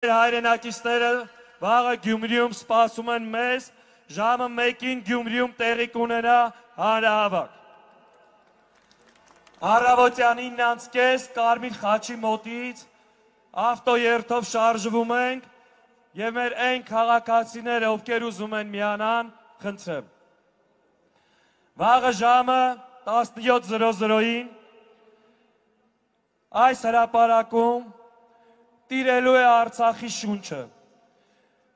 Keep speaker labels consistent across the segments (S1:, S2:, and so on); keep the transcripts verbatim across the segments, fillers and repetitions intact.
S1: Հայրենակիցները վաղը Գյումրիում սպասում են մեզ, ժամը մեկին Գյումրիում տեղի կունենա հանրահավաք։ Առավոտյան ինը անց կես Կարմիր խաչի մոտից ավտոերթով շարժվում ենք եւ մեր այն քաղաքացիները, ովքեր ուզում են միանան, խնդրեմ։ Վաղը ժամը տասնյոթ զրո զրոին այս հրապարակում տիրելու է Արցախի շունչը։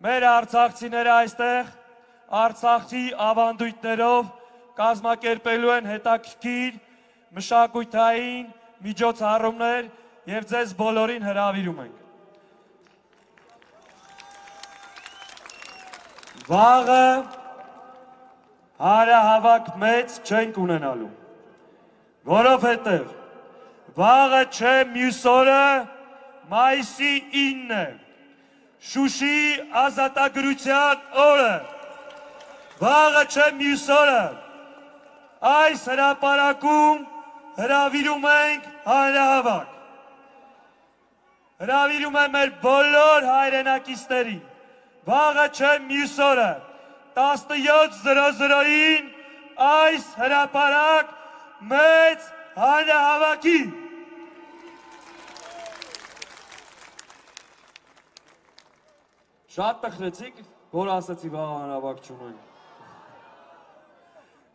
S1: Մեր արցախցիները այստեղ Արցախի ավանդույթներով կազմակերպելու են հետաքրքիր մշակութային միջոցառումներ եւ ձեզ բոլորին հրավիրում ենք։ Վաղը հանրահավաք մեծ չենք ունենալու, որովհետեւ վաղը չէ մյուս օրը մայիսի ինը է, Շուշի ազատագրության օրը, վաղը չէ մյուս օրը, այս հրապարակում հրավիրում ենք հանրահավաք, հրավիրում եմ մեր բոլոր հայրենակիցներին, վաղը չէ մյուս օրը, տասնյոթ զրո զրոին այս հրապարակ մեծ հանրահավաքի։ Շատ տխրեցիք, որ ասացի վաղ հանրահավաք չունենք։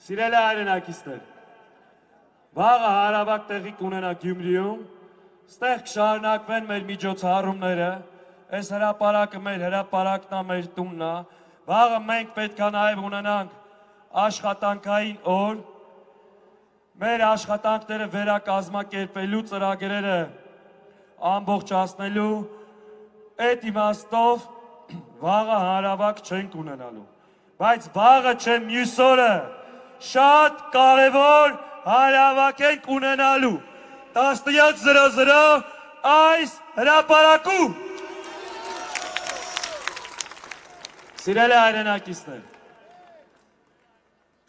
S1: Սիրելի հայրենակիցներ, վաղը հանրահավաք տեղի կունենա Գյումրիում, ստեղ կշարունակվեն մեր միջոցառումները, այս հրապարակը մեր հրապարակն է, մեր տունն է, վաղը մենք պետք է նաև ունենանք աշխատանքային օր, մեր աշխատանքները վերակազմակերպելու ծրագրերը ամբողջացնելու, այդ իմաստով վաղը հանրահավաք չենք ունենալու, բայց վաղը չէ մյուս օրը շատ կարևոր հանրահավաք ենք ունենալու տասնյոթ զրո զրո այս հրապարակում։ Սիրելի հայրենակիցներ,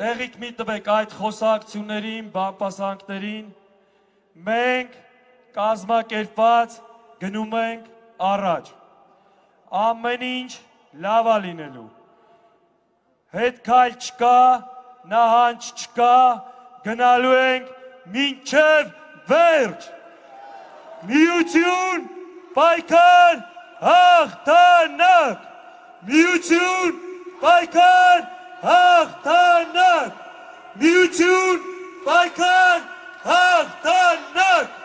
S1: տեղիք մի տվեք այդ խոսակցություններին, բամբասանքներին, մենք կազմակերպված գնում ենք առաջ, ամեն ինչ լավ է լինելու, հետքայլ չկա, նահանջ չկա, գնալու ենք մինչև վերջ, միություն, պայքար, հաղթանակ, միություն, պայքար, հաղթանակ, միություն, պայքար, հաղթանակ։